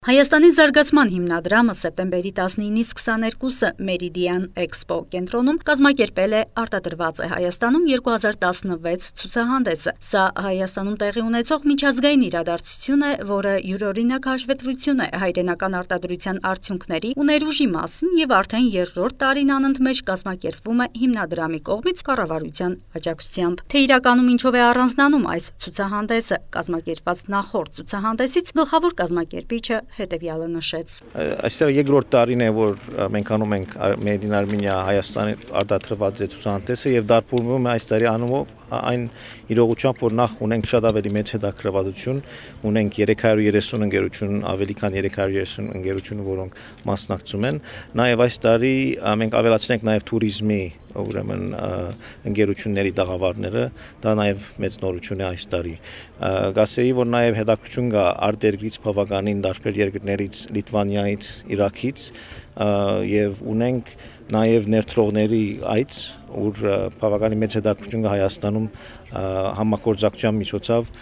Հայաստանի զարգացման հիմնադրամը սեպտեմբերի 19-ից 22-ը Meridian Expo կենտրոնում կազմակերպել է արտադրված է Հայաստանում 2016 ցուցահանդեսը։ Սա Հայաստանում տեղի ունեցող միջազգային իրադարձություն է, որը յուրօրինակ հաշվետվություն է հայրենական արտադրության արդյունքների ու ներուժի մասին եւ արդեն երրորդ տարին անընդմեջ կազմակերպվում է հիմնադրամի կողմից կառավարության աջակցությամբ։ Թե իրականում ինչով է առանձնանում այս ցուցահանդեսը, կազմակերպված նախորդ ցուցահանդեսից գլխավոր կազմակերպիչը հետևյալը նշեց. Այստեղ երկրորդ տարին է, որ մենք անում ենք Made in Armenia Հայաստանի արտադրված ցուցահանդեսը եւ դարբուրվում է այս տարի անունով այն իրողությամբ, որ նախ ունենք շատ ավելի մեծ հետաքրքրվածություն, ունենք 330 ընկերություն, ավելի քան 330 ընկերություն, որոնք մասնակցում են, նաեւ այս տարի մենք ավելացնենք նաեւ туриզմի ուրեմն ընկերությունների տաղավարները, դա նաև մեծ նորություն է այս տարի։ Գասեի, որ նաև հետաքրքրություն կա արտերկրից բավականին տարբեր երկրներից, Լիտվանիայից, Իրաքից եւ ունենք նաև ներդրողների այց, ուր բավականին մեծ հետաքրքրություն կա Հայաստանում համագործակցության միջոցով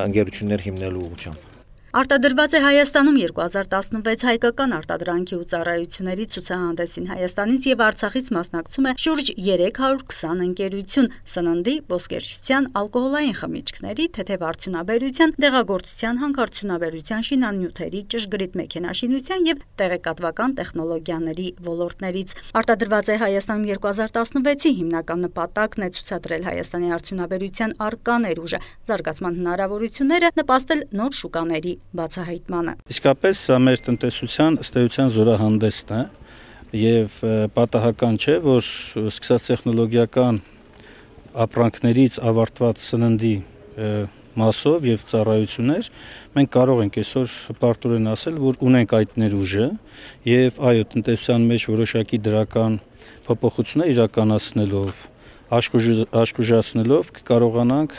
ընկերություններ հիմնելու ուղղությամբ։ Արտադրված է Հայաստանում 2016 հայկական արտադրանքի ու ծառայությունների ցուցահանդեսին Հայաստանից եւ Արցախից մասնակցում է շուրջ 320 ընկերություն՝ սննդի, ոսկերչության, ալկոհոլային խմիչքների, թեթև արդյունաբերության, դեղագործության, հանքարդյունաբերության, շինանյութերի, ճշգրիտ մեքենաշինության եւ տեղեկատվական տեխնոլոգիաների ոլորտներից։ Արտադրված է Հայաստանում 2016-ի հիմնական նպատակն է ցուցադրել Հայաստանի արդյունաբերության առկա ներուժը, զարգացման հնարավորությունները, նպաստել նոր շուկաների բացահայտմանը։ Իսկապես սա մեր տնտեսության ըստ էության զորահանդեսն է եւ պատահական չէ, որ սկսած տեխնոլոգիական ապրանքներից ավարտված սննդի մասով եւ ծառայություններ մենք կարող ենք այսօր պարտորեն ասել, որ ունենք այդ ներուժը եւ այո, տնտեսության մեջ որոշակի դրական փոփոխություններ իրականացնելով, աշխուժացնելով կարողանանք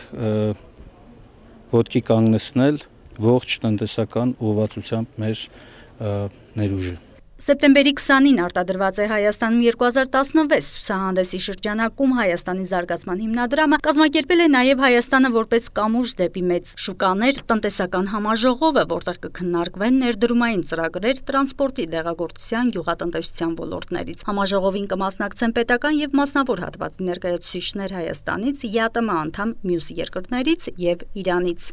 ոտքի կանգնեցնել ողջ տնտեսական ուղղվածությամբ մեր ներուժը։ Սեպտեմբերի 20-ին արտադրված է Հայաստանում 2016 ցուցահանդեսի շրջանակում Հայաստանի զարգացման հիմնադրամը կազմակերպել է նաև Հայաստանը որպես կամուրջ դեպի մեծ շուկաներ տնտեսական համաժողովը, որտեղ կքննարկվեն ներդրումային ծրագրեր տրանսպորտի, դեղագործության, գյուղատնտեսության ոլորտներից։ Համաժողովին կմասնակցեն պետական եւ մասնավոր հատվածի ներկայացուցիչներ Հայաստանից, ԵԱՏՄ անդամ մյուս երկրներից եւ Իրանից։